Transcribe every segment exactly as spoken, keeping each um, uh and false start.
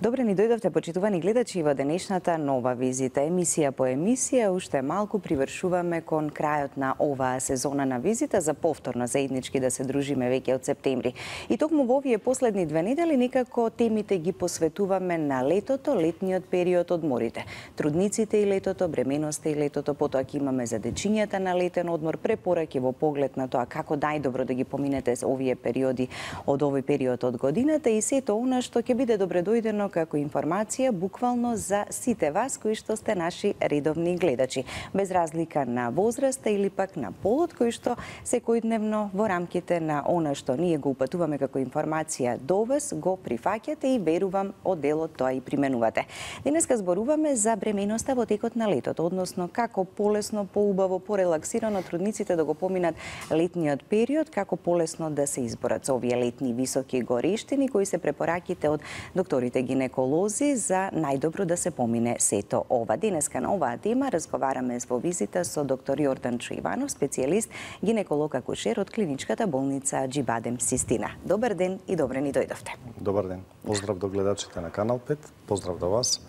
Добре ни дојдовте, почитувани гледачи, во денешната нова визита. Емисија по емисија, уште малку привршуваме кон крајот на оваа сезона на визита за повторно заеднички да се дружиме веќе од септември. И токму во овие последни две недели некако темите ги посветуваме на летото, летниот период, одморите. Трудниците и летото, бременоста и летото, потоа ќе имаме за дечињата на летен одмор, препораки во поглед на тоа како најдобро да ги поминете овие периоди од овој период од годината и сето она што ќе биде добредојдено како информација буквално за сите вас кои што сте наши редовни гледачи, без разлика на возраста или пак на полот, кои што секојдневно во рамките на она што ние го упатуваме како информација до вас, го прифаќате и верувам од делот тоа и применувате. Денеска зборуваме за бременоста во текот на летото, односно како полесно, поубаво, порелаксирано трудниците да го поминат летниот период, како полесно да се изборат со овие летни високи горештини кои се препораките од докторите гинеколози за најдобро да се помине сето ова. Денеска на оваа тема разговараме во визита со доктор Јордан Чоиванов, специјалист гинеколог акушер од клиничката болница Џибадем Систина. Добар ден и добре ни дојдовте. Добар ден. Поздрав до гледачите на Канал пет. Поздрав до вас.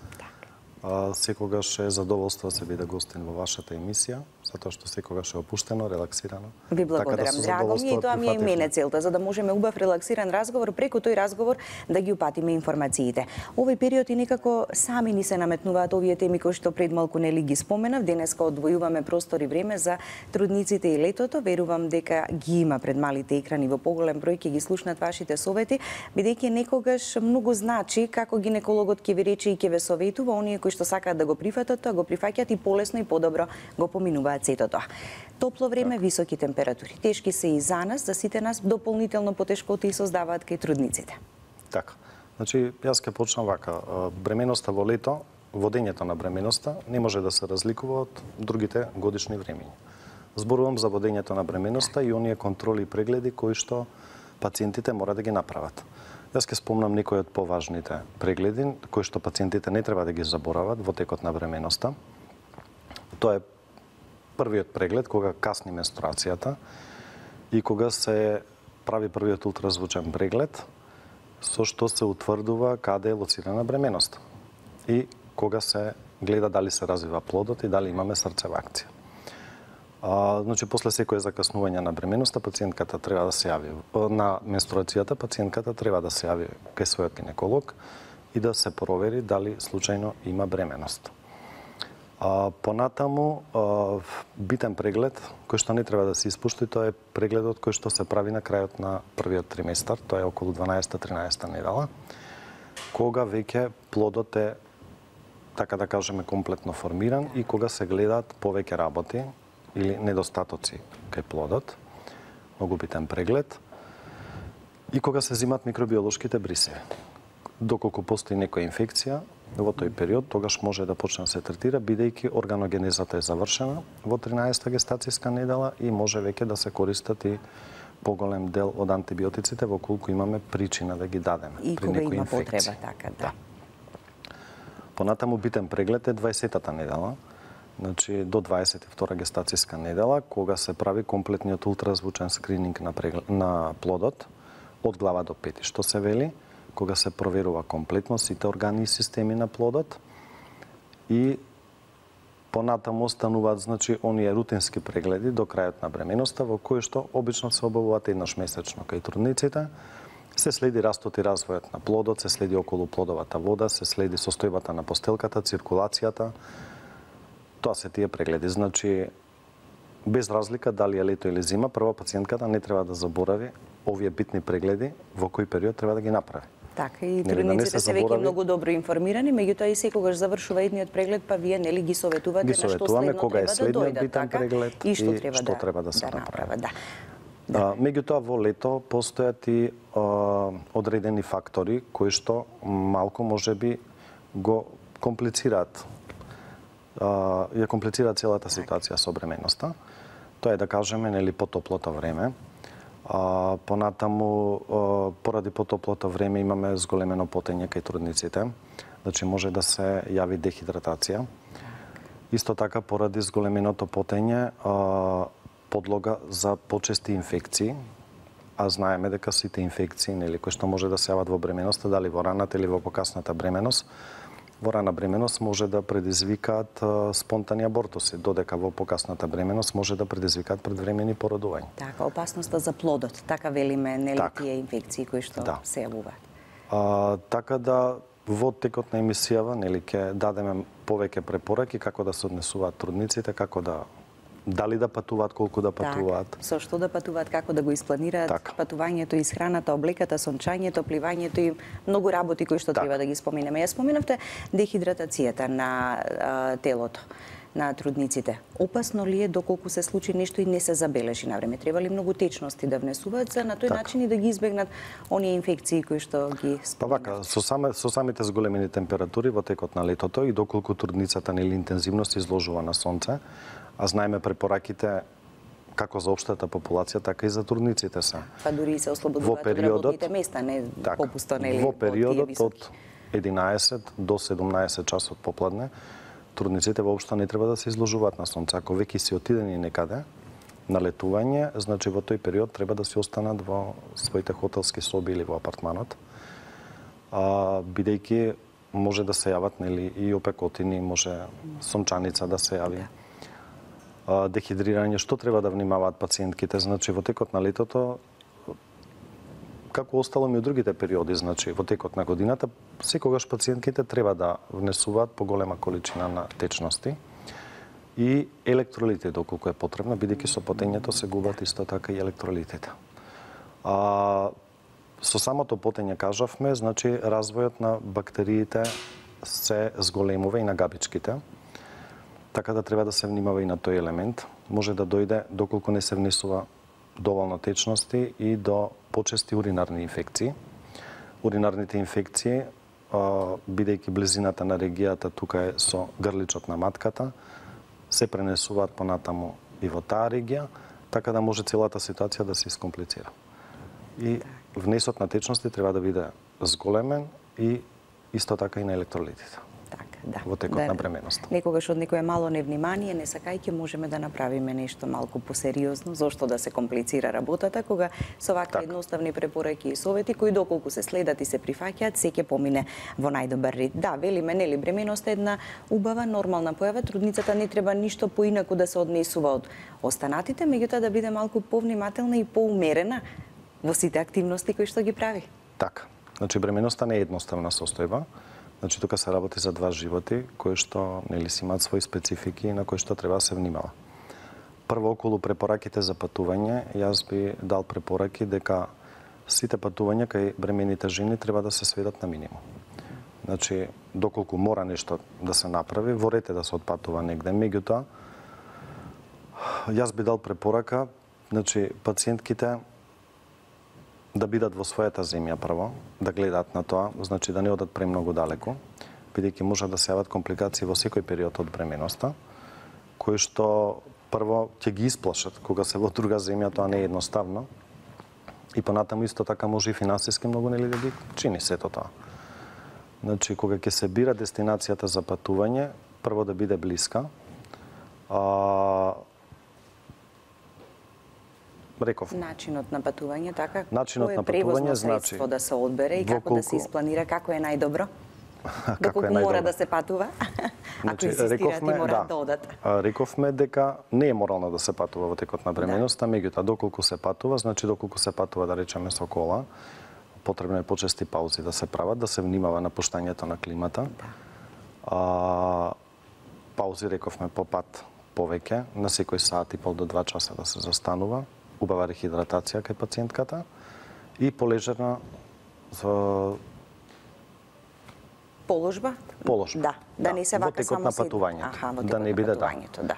А, секогаш е задоволство да се биде гостин во вашата емисија, затоа што секогаш е опуштено, релаксирано. Ви благодарам, така да драго ми, и тоа ми е и мене целта, за да можеме убав релаксиран разговор, преку тој разговор да ги упатиме информациите. Овој период и некако сами ни се наметнуваат овие теми кои што пред малку нели ги споменав. Денеска одвојуваме простор и време за трудниците и летото. Верувам дека ги има пред малите екрани во поголем број, ќе ги слушнат вашите совети, бидејќи некогаш многу значи како гинекологот ќе ви рече и ќе ве советува, оние кои што сакаат да го прифатат тоа, го прифаќаат и полесно и подобро го поминуваат сето тоа. Топло време, так. Високи температури. Тешки се и за нас, за сите нас, дополнително потешкоти и создаваат кај трудниците. Така. Значи, јас ќе почнам вака. Бременоста во лето, водењето на бременоста не може да се разликува од другите годишни времења. Зборувам за водењето на бременоста и оние контроли и прегледи кои што пациентите мора да ги направат. Јас ќе спомнам некои од поважните прегледи кои што пациентите не треба да ги заборават во текот на бременоста. Тоа е првиот преглед кога касни менструацијата и кога се прави првиот ултразвучен преглед со што се утврдува каде е лоцирана бременоста и кога се гледа дали се развива плодот и дали имаме срцева акција. А, значи, после секое закаснување на бременоста, пациентката треба да се јави на менструацијата, пациентката треба да се јави кај својот гинеколог и да се провери дали случајно има бременост. А, понатаму, а, битен преглед, кој што не треба да се испушти, тоа е прегледот кој што се прави на крајот на првиот триместар, тоа е околу дванаесета-тринаесета недела, кога веќе плодот е, така да кажеме, комплетно формиран и кога се гледаат повеќе работи или недостатоци кај плодот, многу битен преглед, и кога се зимат микробиолошките брисеви. Доколку постои некоја инфекција во тој период, тогаш може да почне да се третира, бидејќи органогенезата е завршена во тринаесета гестацијска недела и може веќе да се користат и поголем дел од антибиотиците во колку имаме причина да ги дадеме и при кога некоја има инфекција. потреба, така, да. да. Понатаму битен преглед е дваесетата недела, значи до дваесет и втора гестацијска недела, кога се прави комплетниот ултразвучен скрининг на, преглед, на плодот од глава до пети, што се вели, кога се проверува комплетно сите органи и системи на плодот и понатаму остануваат, значи, оние рутински прегледи до крајот на бременоста, во кои што обично се обавуваат еднаш месечно кај трудниците. Се следи растот и развојот на плодот, се следи околу плодовата вода, се следи состојбата на постелката, циркулацијата. Тоа се тие прегледи. Значи, без разлика дали е лето или зима, прва пациентката не треба да заборави овие битни прегледи во кој период треба да ги направи. Така, и трудниците се веќе многу добро информирани, меѓутоа и секогаш завршува едниот преглед, па вие нели ги советувате ги на што следно кога е треба да дојдат, битен така, преглед и што и треба, што да, треба да се да направи. Да. Да. А, меѓутоа во лето постојат и а, одредени фактори кои што малку можеби го комплицираат а, ја комплицираат целата ситуација со бременоста. Тоа е, да кажеме, нели потоплото време. А, понатаму, а, поради потоплото време имаме зголемено потење кај трудниците, значи може да се јави дехидратација. Исто така, поради зголеменото потење, а, подлога за почести инфекции, а знаеме дека сите инфекции, нели, кои што може да се јават во бременоста, дали во раната или во покасната бременост, во рана бременост може да предизвикаат спонтани абортуси, додека во покасната бременост може да предизвикаат предвремени породувања. Така, опасноста за плодот, така велиме, нели, так. тие инфекции кои што да. се јавуваат. А, така да во текот на емисијава, нели, ќе дадеме повеќе препораки како да се однесуваат трудниците, како да дали да патуваат, колку да патуваат. Так, со што да патуваат, како да го испланираат так. патувањето, исхраната, облеката, сончањето, пливањето и многу работи кои што так. треба да ги споменеме. Ја споменавте дехидратацијата на а, телото на трудниците. Опасно ли е доколку се случи нешто и не се забележи на време? Треба ли многу течности да внесуваат за на тој так. начин и да ги избегнат оние инфекции кои што ги споменавте? Па вака, со, саме, со самите зголемени температури во текот на летото и доколку трудницата нели интензивност изложува на сонце, а знаеме препораките како за општата популација, така и за трудниците се. Па дури и се ослободуваат од работните места, не так, попусто, нели? Во периодот од единаесет до седумнаесет часот попладне, трудниците воопшто не треба да се изложуваат на сонце. Ако веќе си отидени некаде на летување, значи во тој период треба да си останат во своите хотелски соби или во апартманот, а, бидејќи може да се јават, нели, и опекотини, може сончаница да се јави. Дехидрирање, што треба да внимаваат пациентките, значи во текот на летото, како остало ми од другите периоди, значи во текот на годината, секогаш пациентките треба да внесуваат поголема количина на течности и електролити доколку е потребно, бидејќи со потењето се губат исто така и електролитите. А, со самото потење кажавме, значи развојот на бактериите се зголемува и на габичките. Така да треба да се внимава и на тој елемент. Може да дојде доколку не се внесува доволно течности и до почести уринарни инфекции. Уринарните инфекции, бидејќи близината на регијата тука е со грличот на матката, се пренесуваат понатаму и во таа регија, така да може целата ситуација да се искомплицира. И внесот на течности треба да биде зголемен и исто така и на електролитите. Да, во текот да, на бременоста. Некогаш од некое мало невнимание, не сакајќи, можеме да направиме нешто малку посериозно, зошто да се комплицира работата, кога со вакви так. едноставни препораки и совети, кои доколку се следат и се прифаќаат, се ќе помине во најдобар ред. Да, велиме, нели, бременоста е една убава, нормална појава, трудницата не треба ништо поинаку да се однесува од останатите, меѓутоа да биде малку повнимателна и поумерена во сите активности кои што ги прави. Така. Значи, бременоста не е едноставна состојба. Значи, тука се работи за два животи, кои што, нели, си имаат своји специфики и на кои што треба да се внимава. Прво, околу препораките за патување, јас би дал препораки дека сите патувања кај бремените жени треба да се сведат на минимум. Значи, доколку мора нешто да се направи, во ред е да се отпатува негде. Меѓутоа, јас би дал препорака, значи, пациентките да бидат во својата земја прво, да гледаат на тоа, значи да не одат премногу далеку, бидејќи може да се јават компликации во секој период од бременоста, кои што прво ќе ги исплашат кога се во друга земја, тоа не е едноставно. И понатаму исто така може и финансиски многу нели да ги чини сето тоа. Значи кога ќе се бира дестинацијата за патување, прво да биде блиска. А, Реков. Начинот на патување, така? Начинот на патување значи да се одбере и како колку... да се испланира, како е најдобро? Доколку е мора да се патува? Ако инсистираат и мора да одат. Рековме дека не е морално да се патува во текот на бременоста, да. Меѓутоа доколку се патува, значи доколку се патува да речеме со кола, потребно е почести паузи да се прават, да се внимава на пуштањето на климата. Да. А, паузи рековме по пат повеќе, на секој сат и пол до два часа да се застанува. Убава рехидратација кај пациентката и полежерна за положба? Положба. Да, да, да не се вака само на патувањето. Аха, во да не биде да. да.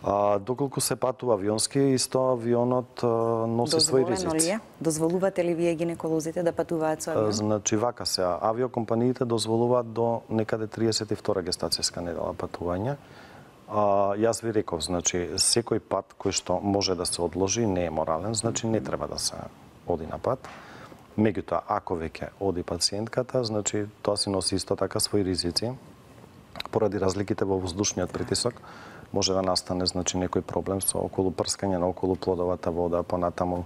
А, доколку се патува авионски, исто авионот а, носи своји ризици. Дозволено ли е? Дозволувате ли вие гинеколозите да патуваат со авион? Значи вака се, авиокомпаниите дозволуваат до некаде триесет и втора гестацијска недела патување. А, јас ви реков, значи, секој пат кој што може да се одложи не е морален, значи не треба да се оди на пат. Меѓутоа, ако веќе оди пациентката, значи тоа си носи исто така своји ризици. Поради разликите во воздушниот притисок, може да настане, значи, некој проблем со околу прскање на околу плодовата вода, понатаму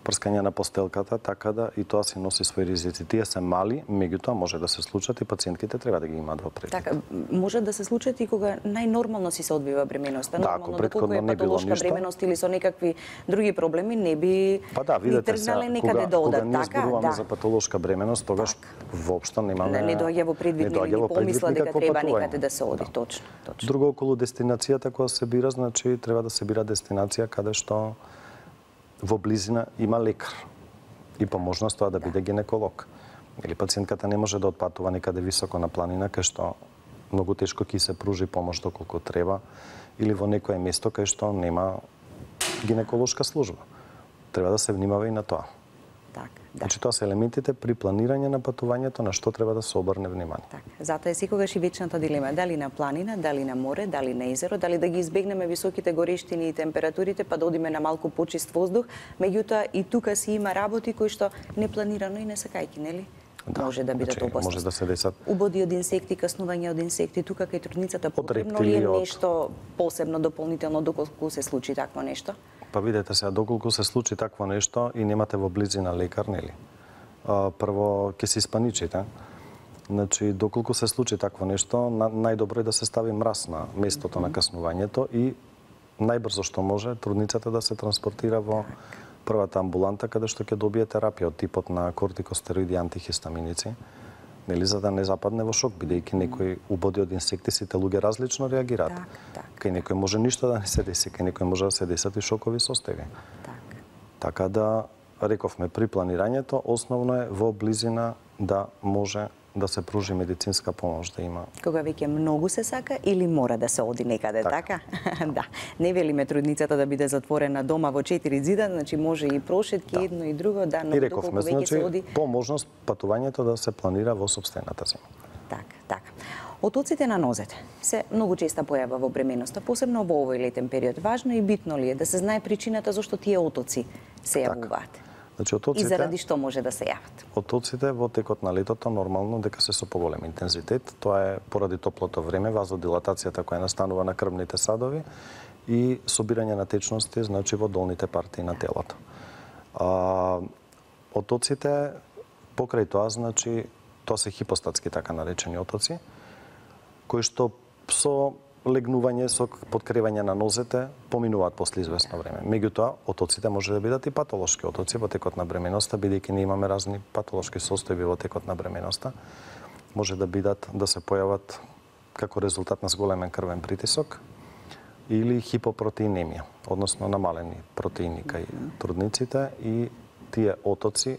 прскање на постелката, така да и тоа се носи своји ризици. Тие се мали, меѓутоа може да се случат и пациентките треба да ги имаат во предвид. Така, може да се случат и кога најнормално си се одвива бременоста. Да, Нормално, ако претходно не било патолошка ништо, бременост или со некакви други проблеми, не би па да, видете, ни тргнале сега, некаде кога, да одат. кога ние така, зборуваме да. за патолошка бременост, тогаш Так. воопшто немаме... Не, не доаѓа во предвид, не не, доаѓа ни во предвид помисла дека никакво треба патување. некаде да се оди, Да. точно, точно. Друго, околу дестинацијата која се бира, значи треба да се бира дестинација каде што во близина има лекар и по можност тоа да биде гинеколог. Или пациентката не може да отпатува некаде високо на планина, кај што многу тешко ќе се пружи помош доколку треба, или во некое место кај што нема гинеколошка служба. Треба да се внимава и на тоа. Так, да. Значи тоа се елементите при планирање на патувањето на што треба да се обрне внимание. Так, затоа е секогаш и вечната дилема, дали на планина, дали на море, дали на езеро, дали да ги избегнеме високите горештини и температурите, па да одиме на малку почист воздух, меѓутоа и тука си има работи кои што непланирано и не сакајки, нели? Да, може да бидат значи, опасни. може да се десат убоди од инсекти, каснување од инсекти, тука кај трудницата Од потребно ли е рептили, од- нешто посебно дополнително доколку се случи такво нешто? Па видете сега, доколку се случи такво нешто и немате во близина лекар, нели? А, прво ќе се испаничите. Значи, доколку се случи такво нешто, на, најдобро е да се стави мраз на местото на каснувањето и најбрзо што може трудницата да се транспортира во првата амбуланта каде што ќе добие терапија од типот на кортикостероиди и антихистаминици, нели, за да не западне во шок, бидејќи некои убоди од инсекти сите луѓе различно реагираат. Так, так. Кај некој може ништо да не се деси, кај некој може да се десат и шокови состојби. Так. Така да, рековме, при планирањето, основно е во близина да може да се пружи медицинска помош, да има. Кога веќе многу се сака или мора да се оди некаде, така? Така. Да. Не велиме трудницата да биде затворена дома во четири зида, значи може и прошетки, Да. едно и друго, да, но И доколку рековме, веќе значи, се оди... по можност патувањето да се планира во сопстената зима. Така, така. Отоците на нозете се многу честа појава во бременоста, посебно во овој летен период. Важно и битно ли е да се знае причината зашто тие отоци се Така. јавуваат? Значи, И отоците, заради што може да се јават? отоците во текот на летото нормално дека се со поголем интензитет. Тоа е поради топлото време, вазодилатацијата која настанува на крвните садови и собирање на течности, значи во долните партии на телото. А, отоците, покрај тоа, значи, тоа се хипостатски така наречени отоци, кои што со легнување, со подкревање на нозете, поминуваат после известно време. Меѓутоа, отоците може да бидат и патолошки отоци во текот на бременоста, бидејќи ние имаме разни патолошки состојби во текот на бременоста. Може да бидат, да се појават како резултат на зголемен крвен притисок или хипопротеинемија, односно намалени протеини кај трудниците, и тие отоци,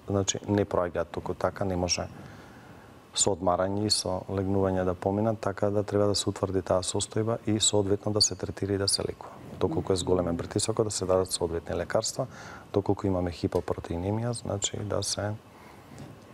значи, не проаѓаат туку така, не може со одмарање и со легнување да поминат, така да треба да се утврди таа состојба и соодветно да се третира и да се лекува. Доколку е зголемен притисокот, да се дадат соодветни лекарства, доколку имаме хипопротеинемија, значи да се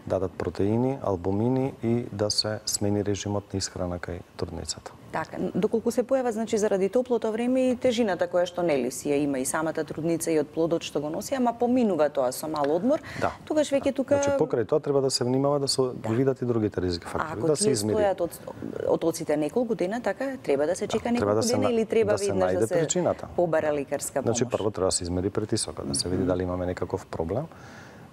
дадат протеини, албумини и да се смени режимот на исхрана кај трудницата. Така, доколку се појава, значи, заради топлото време и тежината која што нели си ја има и самата трудница и од плодот што го носи, ама поминува тоа со мал одмор, Да. тогаш веќе тука... Значи, покрај тоа треба да се внимава да се да. видат и другите ризики А фактори, ако да се тие измери. стојат од отоците неколку дена, така треба да се чека Да, неколку треба да се дена на- или треба да се веднаш најде да се причината. побара лекарска помош? Значи, прво треба да се измери притисокот, да се види дали имаме некаков проблем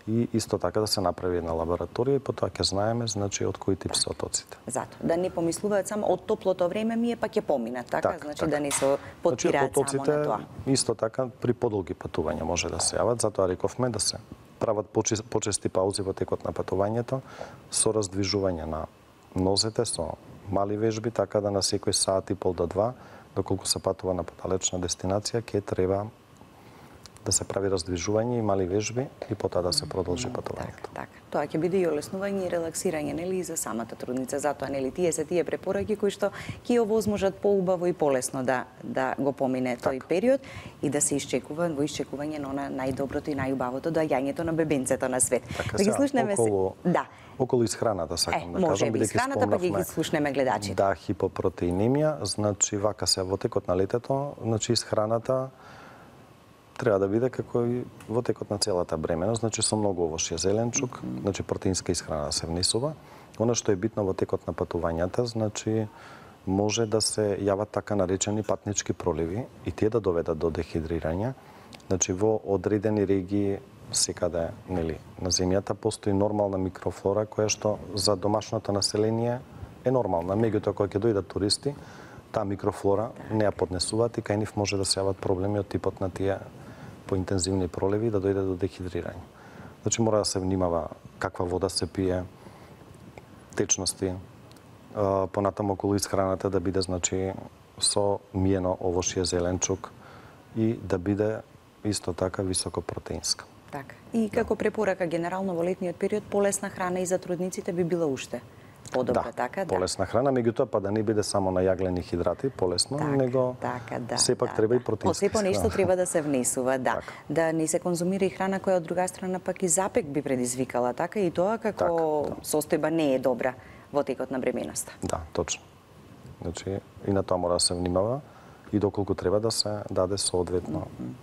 и исто така да се направи една лабораторија и потоа ќе знаеме, значи, од кој тип се отоците. Зато, да не помислуваат само од топлото време ми е па ќе поминат, така? Така, значи така. да не се потпираат Значи, само на тоа. исто така при подолги патувања може да се јават, затоа рековме да се прават почи- почести паузи во текот на патувањето со раздвижување на нозете со мали вежби, така да на секој сат и пол до два, доколку се патува на подалечна дестинација, ќе треба да се прави раздвижување и мали вежби и потоа да се продолжи патувањето. Така, така. Тоа ќе биде и олеснување и релаксирање, нели, и за самата трудница. Затоа, нели, тие се тие препораки кои што ќе овозможат поубаво и полесно да да го помине тој период и да се исчекува во исчекување на она најдоброто и најубавото доаѓањето на бебенцето на свет. Така, да ги сега, слушнеме околу, се. Да. околу исхраната Е, сакам да може кажам, би бидејќи исхраната, па ќе ги спомнавме слушнеме гледачите. да, хипопротеинемија, значи вака се во текот на летето, значи исхраната треба да биде како и во текот на целата бременост, значи со многу овошје, зеленчук, mm-hmm. значи протеинска исхрана се внесува. Она што е битно во текот на патувањата, значи може да се јават така наречени патнички проливи и тие да доведат до дехидрирање, Значи во одредени регии секаде, нели, на земјата постои нормална микрофлора која што за домашното население е нормална. Меѓутоа кога ќе дојдат туристи, таа микрофлора не ја поднесуваат и кај нив може да се јават проблеми од типот на тие поинтензивни проливи да дојде до дехидрирање. Значи мора да се внимава каква вода се пие, течности, понатаму околу исхраната да биде значи со миено овошје, зеленчук и да биде исто така високо протеинска. Така. И како препорака генерално во летниот период полесна храна и за трудниците би била уште подобра, да, така? Да, полесна храна, меѓутоа па да не биде само на јаглени хидрати, полесно, так, него така, да, сепак да, треба да. и протеински. По нешто треба да се внесува, да. Так. Да не се конзумира и храна која од друга страна пак и запек би предизвикала, така? И тоа како так, да. состојба не е добра во текот на бременоста. Да, точно. Значи, и на тоа мора да се внимава и доколку треба да се даде соодветно mm -hmm.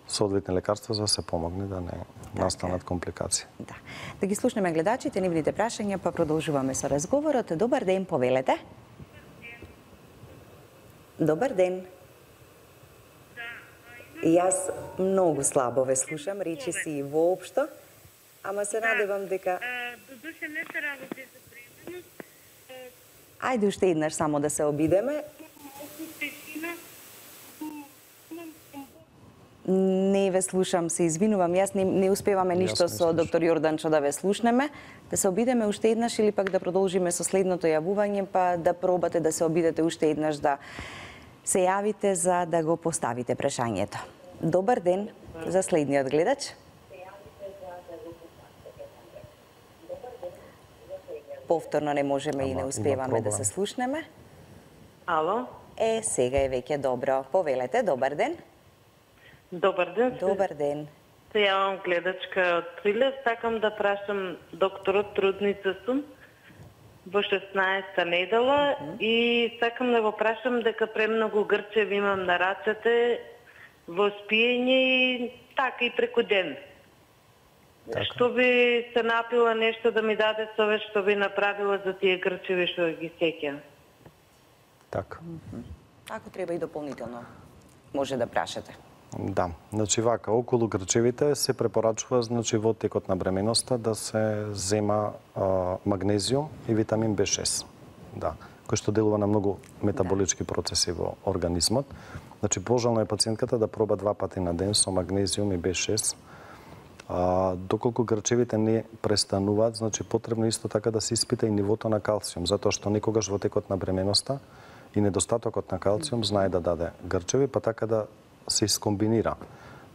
соодветни лекарства за да се помогне да не така настанат компликации. Да. Да ги слушнеме гледачите, нивните прашања, па продолжуваме со разговорот. Добар ден, повелете. Добар ден. И јас многу слабо ве слушам, речи си воопшто, ама се надевам дека... Додуше не се работи за бременност. Ајде уште еднаш само да се обидеме. Не ве слушам, се извинувам. Јас не, не успеваме ништо со доктор Јорданчо да ве слушнеме. Да се обидеме уште еднаш или пак да продолжиме со следното јавување, па да пробате да се обидете уште еднаш да се јавите за да го поставите прашањето. Добар ден за следниот гледач. Повторно не можеме и не успеваме да се слушнеме. Ало? Е, сега е веќе добро. Повелете, добар ден. Добар ден. Добар ден. Се јавам гледачка од Прилеп. Сакам да прашам докторот, трудница сум во шеснаесетта недела mm -hmm. и сакам да го прашам дека премногу грчеви имам на рацете во спиење и така и преку ден. Така. Што би се напила нешто да ми даде совет што би направила за тие грчеви што ги сеќам? Така. Mm -hmm. Ако треба и дополнително може да прашате. Да, значи вака, околу грчевите се препорачува значи во текот на бременоста да се зема а, магнезиум и витамин Б шест. Да, кој што делува на многу метаболички процеси во организмот. Значи пожелно е пациентката да проба два пати на ден со магнезиум и Б шест. А, доколку грчевите не престануваат, значи потребно исто така да се испита и нивото на калциум, затоа што некогаш во текот на бременоста и недостатокот на калциум знае да даде грчеви, па така да се искомбинира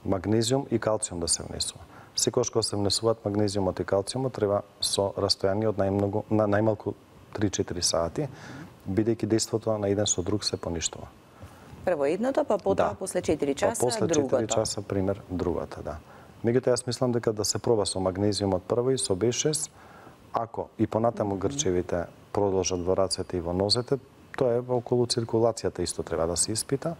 магнезиум и калциум да се внесува. Секогаш кога се внесуваат магнезиумот и калциумот треба со растојание од најмногу на најмалку три-четири сати, бидејќи дејството на еден со друг се поништува. Прво едното, па потоа да. после четири часа па после другото. четири часа пример другата, да. Меѓутоа јас мислам дека да се проба со магнезиумот прво и со Б шест, ако и понатаму грчевите продолжат во рацете и во нозете, тоа е околу циркулацијата исто треба да се испита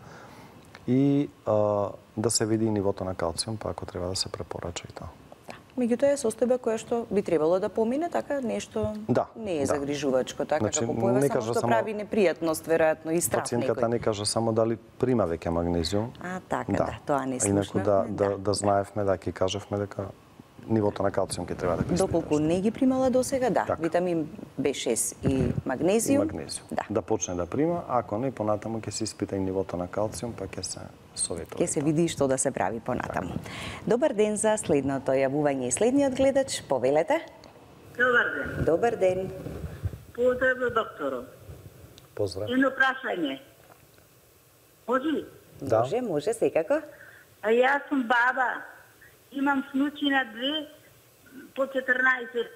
и а, да се види и нивото на калциум, па ако треба да се препорача и тоа. Да. Меѓутоа е состојба која што би требало да помине, така нешто да, не е да. загрижувачко, така Значи, како појава само што само... прави непријатност, веројатно и страф некој. Пациентката не кажа само дали прима веќе магнезиум. А, така, да, да тоа не слушнавме. Инаку да, да, да, да знаевме, да ќе кажавме дека нивото на калциум ќе треба да го испиташ. Доколку не ги примала досега, да, така. витамин Б шест и магнезиум. И магнезиум. Да. да почне да прима, ако не понатаму ќе се испита и нивото на калциум, па ќе се советува. Ќе се види што да се прави понатаму. Так. Добар ден за следното јавување и следниот гледач, повелете. Добар ден. Добар ден. Поздрав до докторот. Поздрав. Едно прашање. Може? Да. Може, може секако. А јас сум баба. Имам внучина две по четрнаесет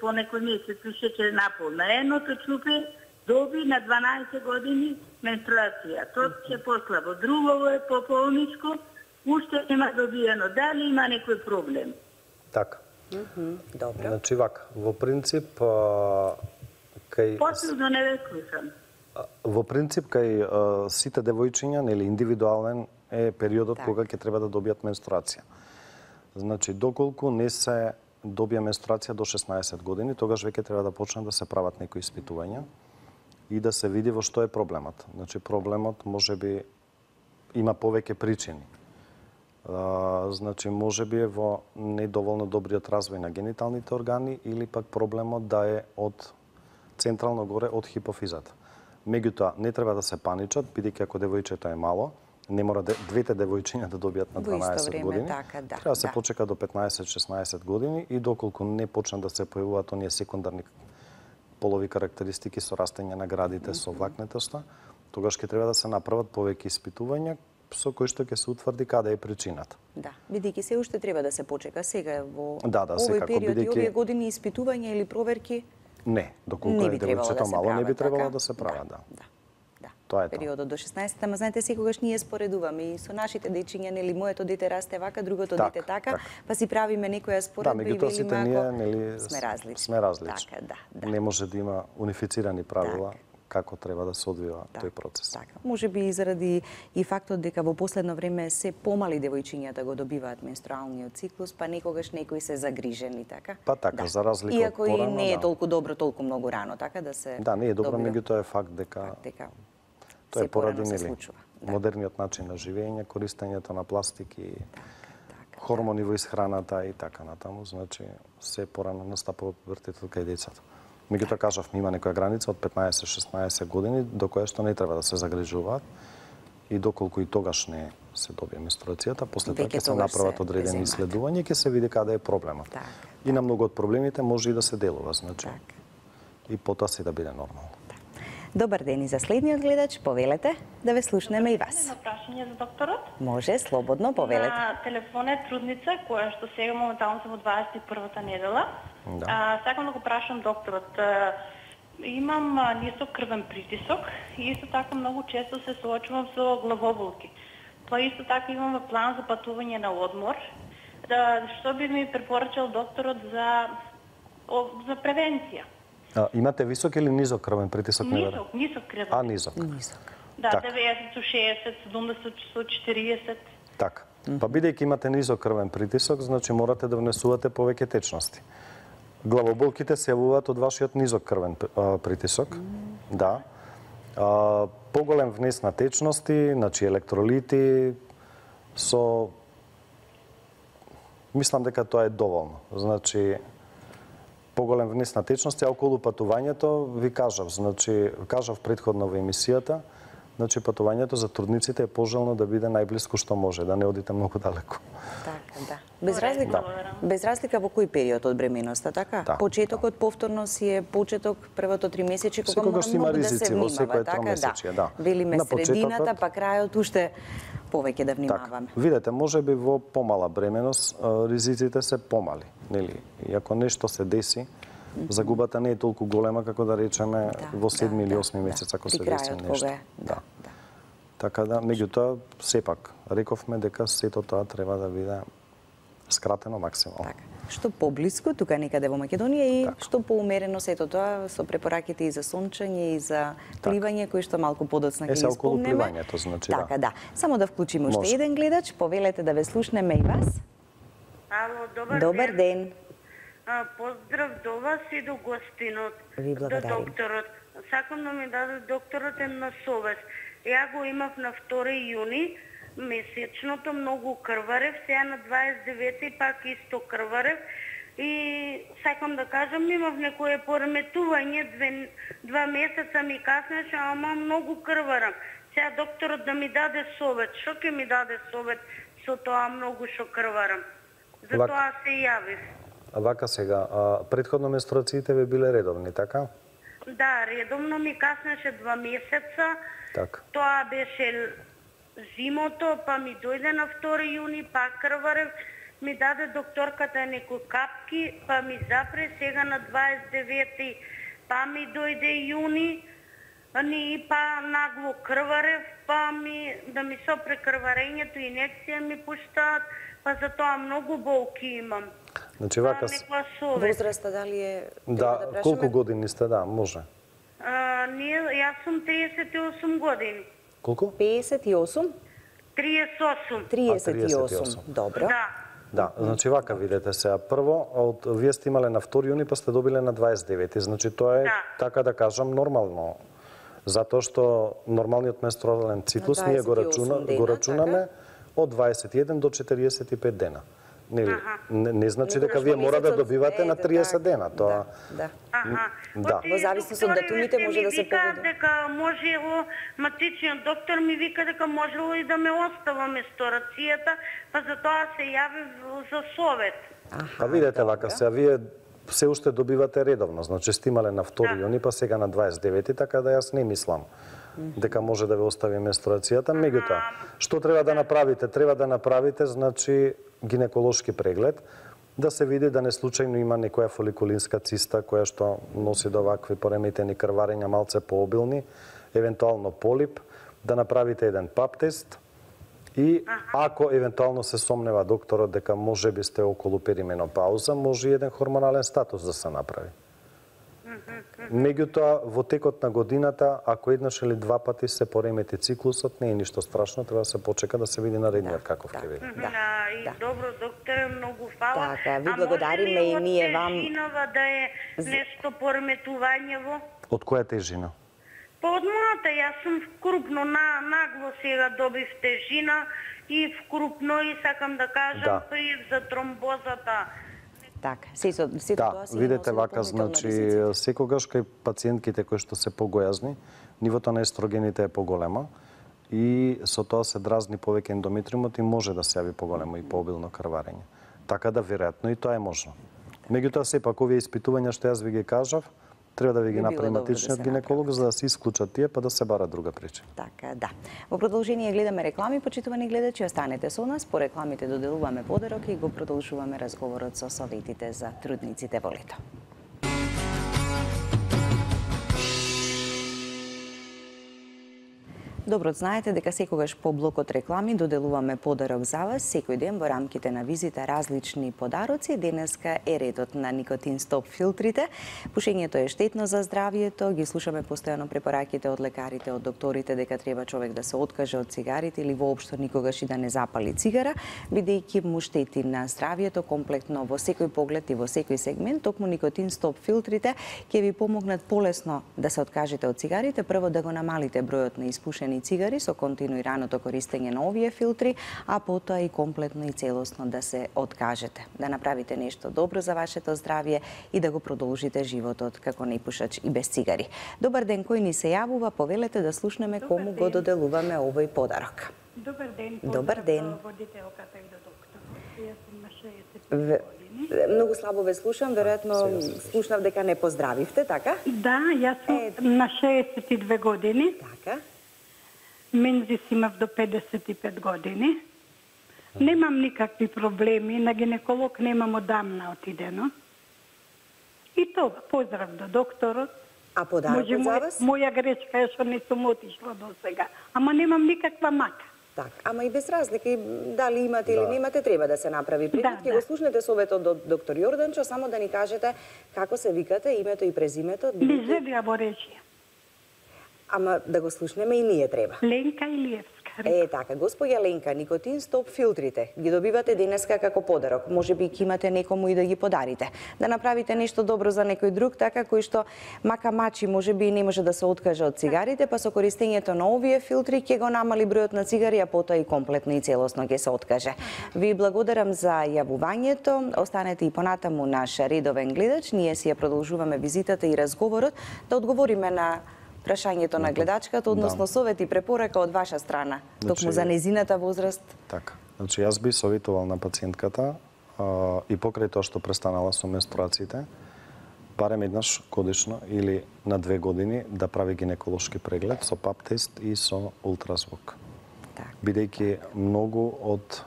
по некој месец шеќер напол. На едното чупе доби на дванаесет години менструација. Тоа ќе послабо. Друго е пополничко, уште нема добиено. Дали има некој проблем? Така. Mm -hmm. Добро. Значи вака, во принцип а, кај Последно не ве слушам. Во принцип кај а, сите девојчиња, нели индивидуален е периодот так. кога ќе треба да добијат менструација. Значи, доколку не се добија менструација до шеснаесет години, тогаш веќе треба да почнат да се прават некои испитувања и да се види во што е проблемот. Значи, проблемот може би има повеќе причини. А, значи, може би е во недоволно добриот развој на гениталните органи или пак проблемот да е од централно горе од хипофизата. Меѓутоа, не треба да се паничат, бидејќи ако девојчето е мало, не мора де, двете девојчиња да добијат на дванаесет време, години. така, да, треба да се да. почека до петнаесет-шеснаесет години и доколку не почнат да се појавуваат оние секундарни полови карактеристики со растење на градите, со влакнетоста, тогаш ќе треба да се направат повеќе испитувања со кои што ќе се утврди каде е причината. Да, бидејќи се уште треба да се почека сега во Да, да, овој секако, период и бидејќи- овие години испитувања или проверки Не, доколку не е би требало да девојчето се мало, не би прават, требало така? да се прават, да. Да. Да. Тоа е тоа. Периодот до шеснаесет, ама знаете секогаш ние споредуваме и со нашите дечиња, нели моето дете расте вака, другото Така, дете така, така. па си правиме некоја Да, споредба и меѓутоа сите велиме ние, ако нели, сме различни. Сме различни. Така, да, да. Не може да има унифицирани правила Така. како треба да се одвива Да, тој процес. Така. Може би и заради и фактот дека во последно време се помали девојчињата го добиваат менструалниот циклус, па некогаш некои се загрижени, така? Па така, за разлика од Иако и порано, не е да. толку добро, толку многу рано, така да се Да, не е добро, добива. меѓутоа е факт дека Факт дека тоа е се поради порано се нели случува. Да. модерниот начин на живење, користењето на пластики, Така, хормони во исхраната и така натаму, значи се порано настапува пубертетот кај децата. Меѓутоа кажавме има некоја граница од петнаесет-шеснаесет години до која што не треба да се загрижуваат и доколку и тогаш не се добие менструацијата, после тоа Веќе ќе се тогаш направат се одредени земат. исследувања и ќе се види каде е проблемот. Така, И на многу од проблемите може и да се делува, значи. Така. И потоа се да биде нормално. Добар ден и за следниот гледач, повелете да ве слушнеме и вас. Едно прашање за докторот. Може, слободно, повелете. На телефон е трудница, која што сега моментално сум во дваесет и првата недела. Да. А, сакам да го прашам докторот. А, имам а, нисок крвен притисок и исто така многу често се соочувам со главоболки. Па исто така имам план за патување на одмор. Да, што би ми препорачал докторот за о, за превенција? А, имате висок или низок крвен притисок? не верам? Нисок, нисок крвен. А, низок. Нисок. Да, така. деветдесет со шеесет, седумдесет со четириесет. Така. Па бидејќи имате низок крвен притисок, значи морате да внесувате повеќе течности. Главоболките се јавуваат од вашиот низок крвен а, притисок. Да. А, поголем внес на течности, значи електролити со мислам дека тоа е доволно. Значи поголем внес на течности, а околу патувањето ви кажав, значи кажав претходно во емисијата, значи патувањето за трудниците е пожелно да биде најблиску што може, да не одите многу далеко. Така, да. Без разлика, Да. без разлика во кој период од бременоста, така? Да, Почетокот повторно си е почеток првото тримесечие кога Секогаш мора има многу да се ризици во внимава, секое така? тромесечие, да. Велиме На средината, почетокот- па крајот уште повеќе да Така. внимаваме. Видете, може би во помала бременост а, ризиците се помали, нели? И ако нешто се деси, загубата не е толку голема како да речеме во седми или осми месец ако При се деси крајот нешто. кога е. Да, да. Така да, меѓутоа, сепак, рековме дека сето тоа треба да биде скратено максимално. Така. Што поблиску, тука некаде во Македонија и Така. што поумерено сето тоа со препораките и за сончење и за пливање кои што малку подоцна Е, ќе се ги околу спомнеме. пливањето, значи, да. Така, да. Само да вклучиме уште Може. еден гледач, повелете да ве слушнеме и вас. Ало, добар, Добар ден. А, поздрав до вас и до гостинот, Ви до благодарим. докторот. Сакам да ми даде докторот една совест. Ја го имав на втори јуни, месечното многу крварев, сега на дваесет и девети пак исто крварев и сакам да кажам, имав некое пореметување, две, два месеца ми каснеше, ама многу крварам. Сега докторот да ми даде совет, што ќе ми даде совет со тоа многу што крварам? Вак- Затоа се јавив. А вака сега, а, претходно менструациите ви биле редовни, така? Да, редовно ми каснеше два месеца. Така. Тоа беше зимото, па ми дојде на втори јуни, пак крварев, ми даде докторката некои капки, па ми запре сега на дваесет и девети, па ми дојде јуни, ни па нагло крварев, па ми да ми со прекрварењето инекција ми пуштаат, па за тоа многу болки имам. Значи Па вака с- некоја совест. Возраста дали е да, треба да колку прашаме? години сте, да, може. А, ние, јас сум триесет и осум години. Колку? песет и осум, триесет и осум. триесет и осум. триесет и осум. Добро. Да. Да, значи вака видете сега. Прво, од вие сте имале на втори јуни, па сте добиле на дваесет и девети. Значи тоа е, Да. така да кажам, нормално. Затоа што нормалниот менструален циклус На ние го дваесет и осум рачуна, дена, го рачунаме така? од дваесет и еден до четириесет и пет дена. Нели, не, не значи дека вие мора да добивате на триесет дена, тоа. Да. Аха. Да. Во зависност од датумите може да се погоди. погоди. Дека можело, матичниот доктор ми вика дека можело и да ме остава место рацијата, па затоа се јавив за совет. Па видете вака се, вие се уште добивате редовно, значи сте имале на втори јуни, па сега на дваесет и девети, така да јас не мислам дека може да ве остави менструацијата. Меѓутоа, што треба да направите? Треба да направите, значи, гинеколошки преглед, да се види да не случајно има некоја фоликулинска циста која што носи до вакви пореметени крварења малце пообилни, евентуално полип, да направите еден пап тест и ако евентуално се сомнева докторот дека може би сте околу перименопауза, може и еден хормонален статус да се направи. Меѓутоа, во текот на годината, ако еднаш или два пати се поремети циклусот, не е ништо страшно, треба да се почека да се види наредниот каков ќе биде. Да, и добро, докторе, многу фала. Така, ви благодариме и ние вам. А може ли од тежинава да е нешто пореметувањево? Од која тежина? Па од мојата, јас сум вкрупно, на, нагло сега добив тежина и вкрупно и сакам да кажам Да. при за тромбозата. Така, сето сето Да, тоа се видете носи вака, дополнителна значи, ризици. секогаш кај пациентките кои што се погојазни, нивото на естрогените е поголема и со тоа се дразни повеќе ендометриумот и може да се јави поголемо и пообилно крварење. Така да веројатно и тоа е можно. Меѓутоа сепак овие испитувања што јас ви ги кажав, треба да ви ги Би било направи добро да матичниот се гинеколог за да се исклучат тие па да се бара друга причина. Така, да. Во продолжение гледаме реклами, почитувани гледачи, останете со нас, по рекламите доделуваме подарок и го продолжуваме разговорот со советите за трудниците во лето. Добро знаете дека секогаш по блокот реклами доделуваме подарок за вас секој ден во рамките на визита различни подароци. Денеска е редот на никотин стоп филтрите. Пушењето е штетно за здравието, ги слушаме постојано препораките од лекарите, од докторите дека треба човек да се откаже од цигарите или воопшто никогаш и да не запали цигара, бидејќи му штети на здравието комплетно во секој поглед и во секој сегмент. Токму никотин стоп филтрите ќе ви помогнат полесно да се откажете од цигарите, прво да го намалите бројот на испушени цигари со континуираното користење на овие филтри, а потоа и комплетно и целосно да се откажете. Да направите нешто добро за вашето здравје и да го продолжите животот како непушач и без цигари. Добар ден, кој ни се јавува, повелете да слушнеме кому го доделуваме овој подарок. Добар ден. Добар ден. До водителката и до докторот. Јас сум на шеесет В... години. Многу слабо ве слушам, веројатно слушнав дека не поздравивте, така? Да, јас сум на шеесет и две години. Така. Мензис имав до педесет и пет години. Немам никакви проблеми, на гинеколог немам одамна отидено. И тоа, поздрав до докторот. А подарокот за мој- вас? Моја грешка е што не сум отишла до сега. Ама немам никаква мака. Так, ама и без разлика, и дали имате или Да. немате, треба да се направи преглед. Да, Ќе да. го слушнете советот од доктор Јорданчо, само да ни кажете како се викате, името и презимето. бидејќи- Лизелија Боречија. Ама да го слушнеме и ние треба. Ленка Илиевска. Е, така, господја Ленка, никотин стоп филтрите ги добивате денеска како подарок. Може би ќе имате некому и да ги подарите. Да направите нешто добро за некој друг, така кој што мака мачи може би и не може да се откаже од цигарите, па со користењето на овие филтри ќе го намали бројот на цигари, а потоа и комплетно и целосно ќе се откаже. Ви благодарам за јавувањето. Останете и понатаму наш редовен гледач. Ние си ја продолжуваме визитата и разговорот да одговориме на прашањето на гледачката, односно совет и препорака од ваша страна, токму Значи- за незината возраст. Така. Значи, јас би советувал на пациентката а, и покрај тоа што престанала со менструациите, барем еднаш годишно или на две години да прави гинеколошки преглед со пап тест и со ултразвук. Так. Бидејќи многу од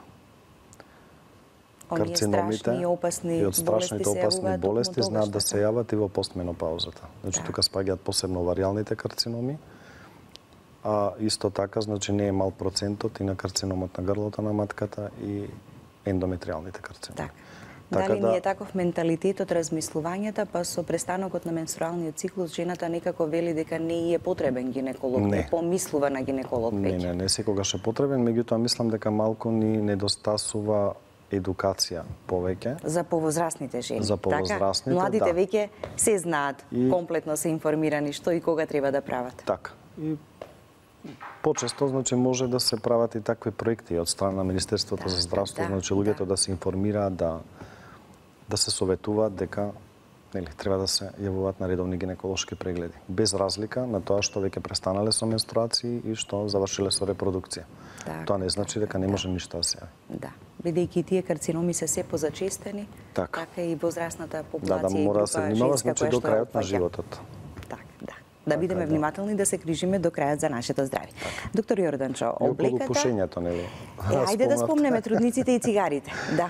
Оние карциномите страшни и опасни и од страшните болести се опасни јавуваат токму болести тогаш, знаат да така? се јават и во постменопаузата. Значи, Да. тука спаѓаат посебно оваријалните карциноми, а исто така, значи, не е мал процентот и на карциномот на грлото на матката и ендометриалните карциноми. Така. Така Дали да- ни е таков менталитетот, размислувањата, па со престанокот на менструалниот циклус, жената некако вели дека не е потребен гинеколог, Не. не помислува на гинеколог Не, веќе. не, не секогаш е потребен, меѓутоа мислам дека малку ни недостасува едукација повеќе. За повозрастните жени. За повозрастните, така? Младите да. веќе се знаат, И- комплетно се информирани што и кога треба да прават. Така. И почесто значи може да се прават и такви проекти од страна на Министерството Да, за здравство, да, значи луѓето да. да се информираат, да да се советуваат дека нели треба да се јавуваат на редовни гинеколошки прегледи, без разлика на тоа што веќе престанале со менструации и што завршиле со репродукција. Так, Тоа не значи дека не да. може ништо да се јави. Да. Бидејќи тие карциноми се се позачестени, Така. така и возрастната популација Да, да и мора да група се внимава женска значи која до што крајот на опфаќа. животот. Так, да. Да бидеме да. внимателни да се грижиме до крајот за нашето здравје. Доктор Јорданчо, И околу облеката... пушењето, нели? Е, ајде да Спомнавте. спомнеме трудниците и цигарите. Да.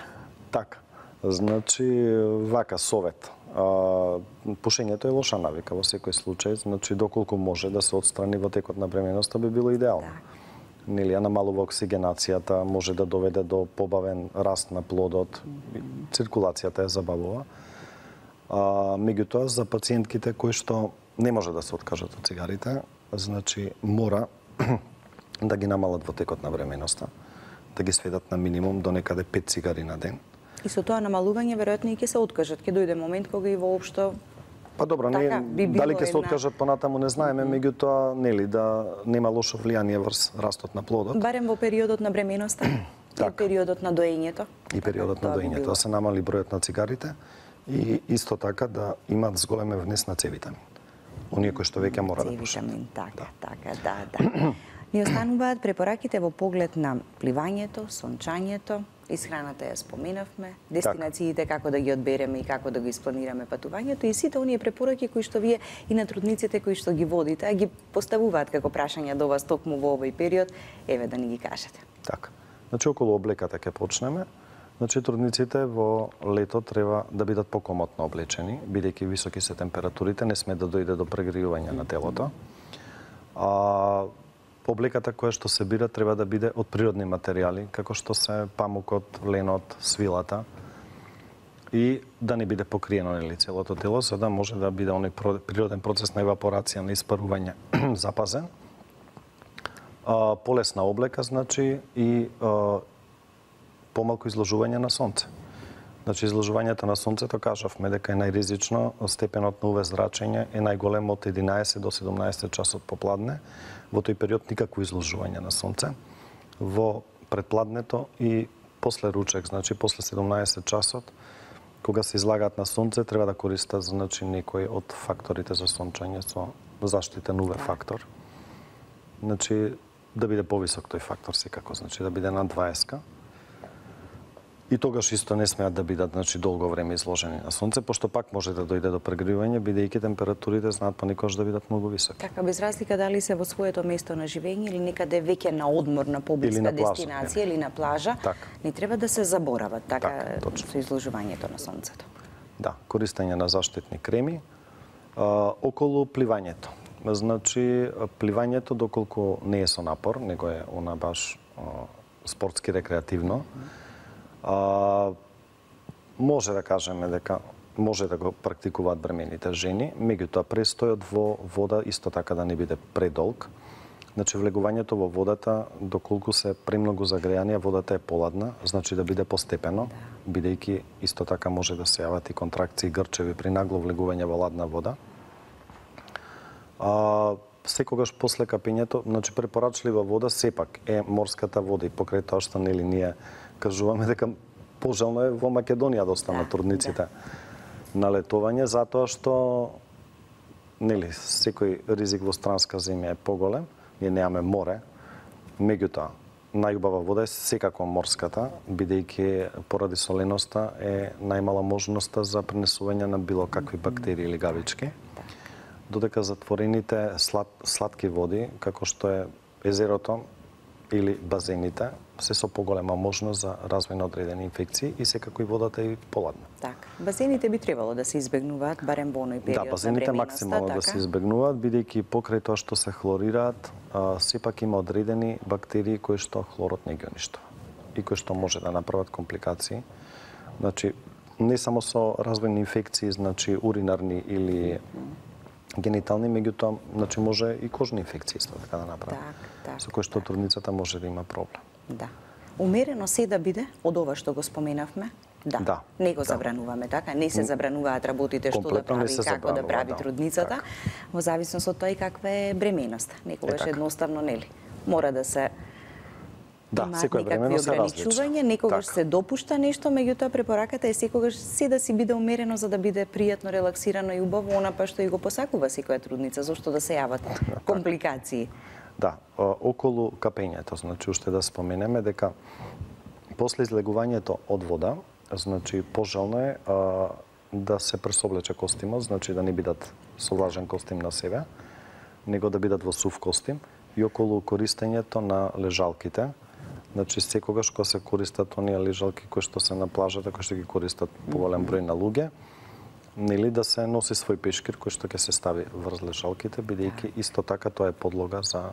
Така. Значи, вака совет. А, пушењето е лоша навика во секој случај, значи доколку може да се отстрани во текот на бременоста би било идеално. Так. Нели, ја намалува оксигенацијата, може да доведе до побавен раст на плодот, циркулацијата ја забавува. А, меѓутоа, за пациентките кои што не може да се откажат од цигарите, значи мора да ги намалат во текот на бременоста, да ги сведат на минимум до некаде пет цигари на ден. И со тоа намалување веројатно и ќе се откажат. Ќе дојде момент кога и воопшто Па добро, Така, не, би било дали ќе се една- откажат понатаму не знаеме, меѓутоа нели да нема лошо влијание врз растот на плодот барем во периодот на бременоста и Така. периодот на доењето. и периодот на Тоа би доењето, било. да се намали бројот на цигарите и исто така да имаат зголемен внес на С витамин. Оние кои што веќе мора да пушат. Витамин, така, така, да, да. Ни остануваат препораките во поглед на пливањето, сончањето, исхраната ја споменавме, дестинациите како да ги одбереме и како да го испланираме патувањето и сите оние препораки кои што вие и на трудниците кои што ги водите, а ги поставуваат како прашања до вас токму во овој период, еве да ни ги кажете. Така. Значи околу облеката ќе почнеме. Значи трудниците во лето треба да бидат покомотно облечени, бидејќи високи се температурите, не сме да дојде до прегријување на телото. А облеката која што се бира треба да биде од природни материјали, како што се памукот, ленот, свилата и да не биде покриено нели целото тело, за да може да биде оној природен процес на евапорација, на испарување запазен. А, полесна облека, значи, и а, помалку изложување на сонце. Значи, изложувањето на сонцето, кажавме дека е најризично, степенот на УВ зрачење е најголем од единаесет до седумнаесет часот попладне. Во тој период никакво изложување на сонце. Во предпладнето и после ручек, значи после седумнаесет часот, кога се излагаат на сонце, треба да користат значи некој од факторите за сончање со заштитен УВ фактор. Значи, да биде повисок тој фактор секако, значи да биде над дваесет. И тогаш исто не смеат да бидат значи долго време изложени на сонце, пошто пак може да дојде до прегревање, бидејќи температурите знаат понекогаш да бидат многу високи. Така, без разлика дали се во своето место на живење или некаде веќе на одмор, на поблиска Или на плажа, дестинација не. или на плажа, Така. не треба да се заборават така, Така, точно. со изложувањето на сонцето. Да, користење на заштитни креми. А, околу пливањето. Значи, пливањето доколку не е со напор, него е она баш а, спортски рекреативно, а, може да кажеме дека може да го практикуваат бремените жени, меѓутоа престојот во вода исто така да не биде предолг. Значи влегувањето во водата, доколку се премногу загрејани, водата е поладна, значи да биде постепено, бидејќи исто така може да се јават и контракции грчеви при нагло влегување во ладна вода. А, секогаш после капењето, значи препорачлива вода сепак е морската вода и покрај тоа што нели ние кажуваме дека пожелно е во Македонија да останат Да, трудниците на летување, затоа што нели секој ризик во странска земја е поголем, ние немаме море, меѓутоа најубава вода е секако морската, бидејќи поради соленоста е најмала можноста за пренесување на било какви бактерии или гавички. Додека затворените слад, сладки води, како што е езерото или базените, се со поголема можност за развој на одредени инфекции и секако и водата е поладна. Така. Базените би требало да се избегнуваат барем во оној период Да, базените на бременоста, максимално така? да се избегнуваат, бидејќи покрај тоа што се хлорираат, а, сепак има одредени бактерии кои што хлорот не ги уништува и кои што може да направат компликации. Значи, не само со развој на инфекции, значи уринарни или генитални, меѓутоа, значи може и кожни инфекции исто така да направи. Так, так, со кои што так. трудницата може да има проблем. Да. Умерено се да биде од ова што го споменавме, Да. Да. Не го Да. забрануваме, така? Не се забрануваат работите што да Комплетно не прави, се како да забранува, прави да. трудницата, Така. во зависност од тоа и каква е бременоста. Некогаш така. едноставно нели. Мора да се Да, имаат секоја некакви времено се различи. ограничувања, некогаш Така. се допушта нешто, меѓутоа препораката е секогаш се да си биде умерено за да биде пријатно, релаксирано и убаво, она па што и го посакува секоја трудница, зошто да се јават компликации. Да, о, околу капењето, значи уште да споменеме дека после излегувањето од вода, значи пожелно е а, да се пресоблече костимот, значи да не бидат со влажен костим на себе, него да бидат во сув костим, и околу користењето на лежалките. Значи секогаш кога се користат оние лежалки кои што се на плажата, кои што ги користат поголем број на луѓе, нели да се носи свој пешкир кој што ќе се стави врз лежалките, бидејќи исто така тоа е подлога за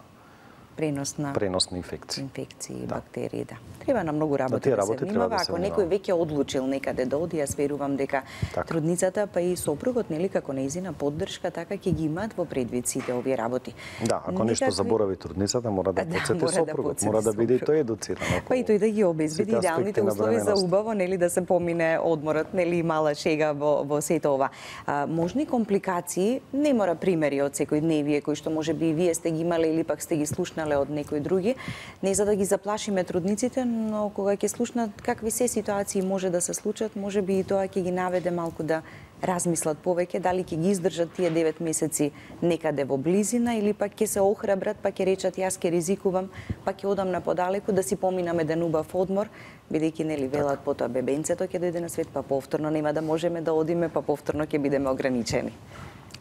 Пренос на пренос на инфекции. инфекции, Да. бактерии, да. Треба на многу работи тие да се работи треба внимава. да се Ако некој внимава. веќе одлучил некаде да оди, јас верувам дека Така. трудницата па и сопругот, нели, како нејзина поддршка, така ќе ги имаат во предвид сите овие работи. Да, ако нешто Никакви- заборави трудницата, мора да Да, подсети мора да сопругот, подсети мора да биде и сопругот. тој едуциран. околу Па и тој да ги обезбеди сите идеалните аспекти на услови за бременоста. убаво, нели, да се помине одморот, нели, и мала шега во, во сето ова. А, можни компликации, не мора примери од секојдневие кои што може би и вие сте ги имале или пак сте ги слушнале од некои други, не за да ги заплашиме трудниците, но кога ќе слушнат какви се ситуации може да се случат, може би и тоа ќе ги наведе малку да размислат повеќе дали ќе ги издржат тие девет месеци некаде во близина или пак ќе се охрабрат, па ќе речат јас ќе ризикувам, па ќе одам на подалеку да си поминам еден убав одмор, бидејќи нели велат потоа бебенцето ќе дојде на свет, па повторно нема да можеме да одиме, па повторно ќе бидеме ограничени.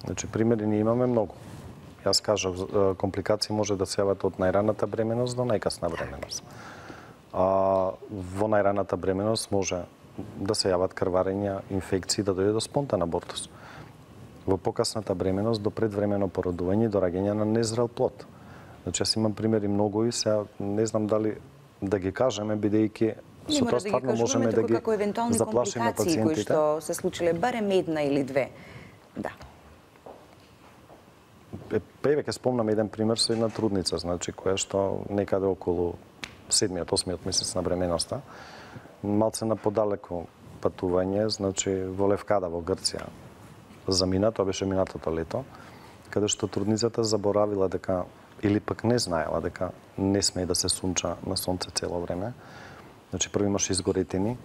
Значи, примери ние имаме многу. Јас кажав, е, компликации може да се јават од најраната бременост до најкасна бременост. А, во најраната бременост може да се јават крварења, инфекции, да дојде до спонтан абортус. Во покасната бременост до предвремено породување и до раѓање на незрел плод. Значи, јас имам примери многу и сега не знам дали да ги кажеме, бидејќи Не со мора тоа да ги стварно кажуваме, можеме да туку ги како евентуални заплашиме компликации кои пациентите. што се случиле барем една или две. Да. Е, па еве ќе спомнам еден пример со една трудница, значи која што некаде околу седмиот, осмиот месец на бременоста, малце на подалеку патување, значи во Левкада во Грција замина, тоа беше минатото лето, каде што трудницата заборавила дека или пак не знаела дека не смее да се сунча на сонце цело време. Значи прво имаше изгоретини,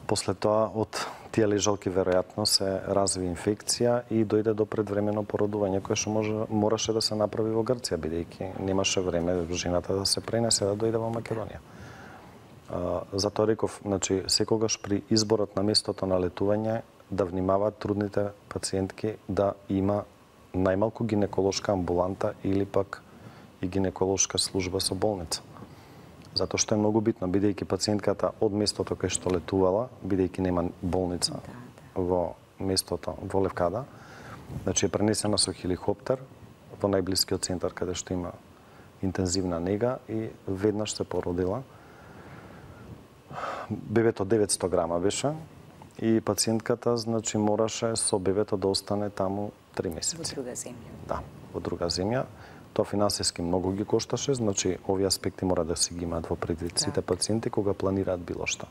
после тоа од тие лежалки веројатно се разви инфекција и дојде до предвремено породување кое што може мораше да се направи во Грција бидејќи немаше време жената да се пренесе да дојде во Македонија. А, затоа реков, значи секогаш при изборот на местото на летување да внимаваат трудните пациентки да има најмалку гинеколошка амбуланта или пак и гинеколошка служба со болница. Затоа што е многу битно, бидејќи пациентката од местото кај што летувала, бидејќи нема болница Да, да. во местото во Левкада, значи е пренесена со хеликоптер во најблискиот центар каде што има интензивна нега и веднаш се породила. Бебето деветсто грама беше и пациентката значи мораше со бебето да остане таму три Во месеци. друга земја. Да, во друга земја. Тоа финансиски многу ги кошташе, значи овие аспекти мора да си ги имаат во предвид сите пациенти кога планираат било што.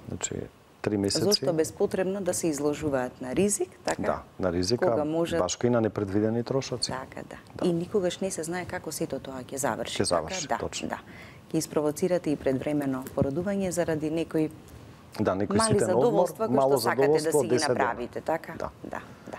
Значи три месеци. Зошто безпотребно да се изложуваат на ризик, така? Да, на ризика, Кога можат- башка и на непредвидени трошоци. Така, да. И никогаш не се знае како сето тоа ќе заврши. Ќе заврши, така? Да, точно. да. Ќе испровоцирате и предвремено породување заради некои Да, некој мали ситен одмор, задоволства кои мало што сакате да задоволство, си ги десет дена. направите, така? Да. Да, да.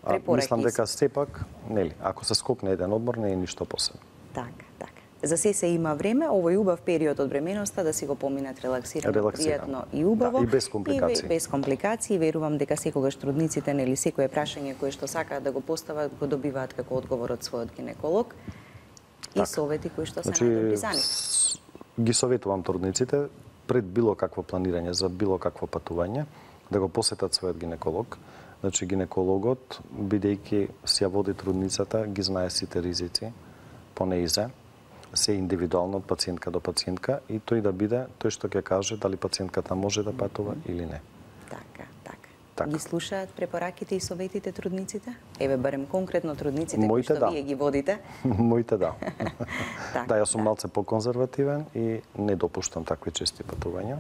А, Препораки мислам дека се. сепак, нели, ако се скокне еден одмор, не е ништо посебно. Така, така. За се се има време, овој убав период од бременоста да си го поминат релаксирано, Релаксирано. пријатно и убаво. Да, и без компликации. И без компликации. Верувам дека секогаш трудниците, нели, секое прашање кое што сакаат да го постават, го добиваат како одговор од својот гинеколог. И Така. совети кои што се Значи, најдобри за нив. с- ги советувам трудниците пред било какво планирање за било какво патување да го посетат својот гинеколог. Значи гинекологот, бидејќи си ја води трудницата, ги знае сите ризици по неизе, се индивидуално од пациентка до пациентка и тој да биде тој што ќе каже дали пациентката може да патува или не. Така, така. Така. Ги слушаат препораките и советите трудниците? Еве барем конкретно трудниците кои Моите што да. вие ги водите. Моите да. Така, Да, јас сум да. малце поконзервативен и не допуштам такви чести патувања.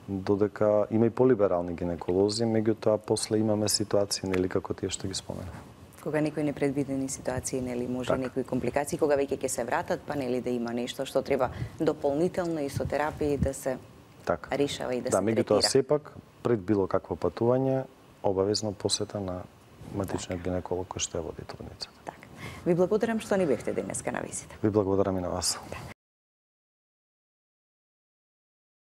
додека има и полиберални гинеколози, меѓутоа после имаме ситуации, нели, како тие што ги споменав. Кога некои непредвидени ситуации, нели, може Так. некои компликации, кога веќе ќе се вратат, па нели да има нешто што треба дополнително и со терапија да се Така. решава и да, Да, се меѓутоа третира. сепак пред било какво патување, обавезно посета на матичниот гинеколог кој што ја води трудницата. Така. Ви благодарам што ни бевте денеска на визита. Ви благодарам и на вас.